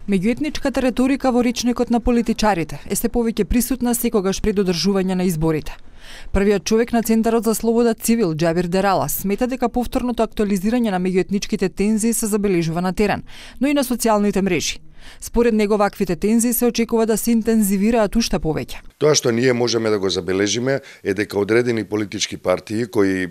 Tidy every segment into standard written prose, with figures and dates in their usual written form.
Меѓуетничката реторика во речникот на политичарите е се повеќе присутна секогаш пред одржување на изборите. Првиот човек на Центарот за слобода цивил, Џабир Дерала, смета дека повторното актуализирање на меѓуетничките тензии се забележува на терен, но и на социјалните мрежи. Според него ваквите тензии се очекува да се интензивираат уште повеќе. Тоа што ние можеме да го забележиме е дека одредени политички партии кои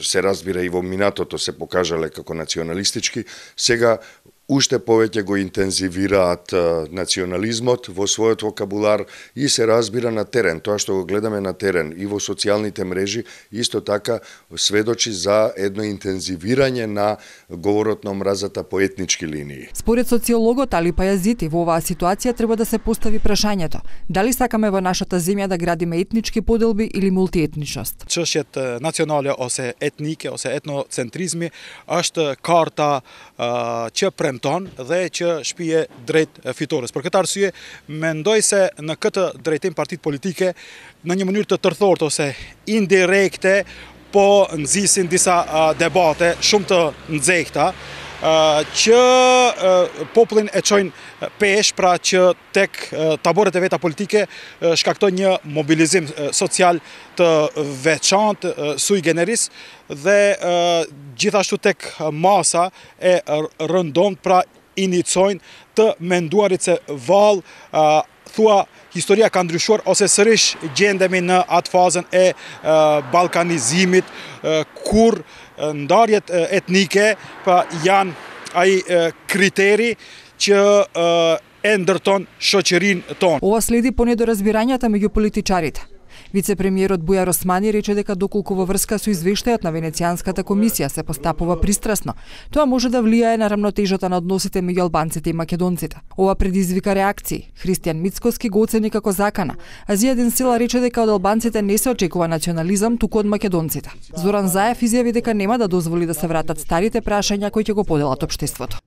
се разбира и во минатото се покажале како националистички, сега уште повеќе го интензивираат национализмот во својот вокабулар и се разбира на терен. Тоа што го гледаме на терен и во социјалните мрежи исто така сведочи за едно интензивирање на говорот на омразата по етнички линии. Според социологот Али Пајазити, во оваа ситуација треба да се постави прашањето: дали сакаме во нашата земја да градиме етнички поделби или мултиетничност? Çështjet nacionale ose etnike ose etnocentrizmi është karta që premton dhe që shpije drejt fitores. Për këtë arsye, mendoj se në këtë drejtim partitë politike në një mënyrë të tërthort ose indirekte po nxisin disa debate shumë të nxehta që popullin e çojnë pesh, pra që tek taborët e veta politike shkaktojnë një mobilizim social të veçantë sui generis dhe gjithashtu tek masa e rëndomt, pra iniciojnë të menduarit se vallë thua historia ka ndryshuar ose sërish gjendemi në atë fazën e balkanizimit kur ndarjet etnike pa janë ai kriteri që e ndërton shoqërinë tonë. Ова следи по недоразбирањата меѓу политичарите. Вице-премиерот Бујар Османи рече дека доколку во врска со извештајот на Венецијанската комисија се постапува пристрасно, тоа може да влијае на рамнотежата на односите меѓу албанците и македонците. Ова предизвика реакции. Христијан Мицкоски го оцени како закана, а Зијадин Сила рече дека од албанците не се очекува национализам, туку од македонците. Зоран Заев изјави дека нема да дозволи да се вратат старите прашања кои ќе го поделат општеството.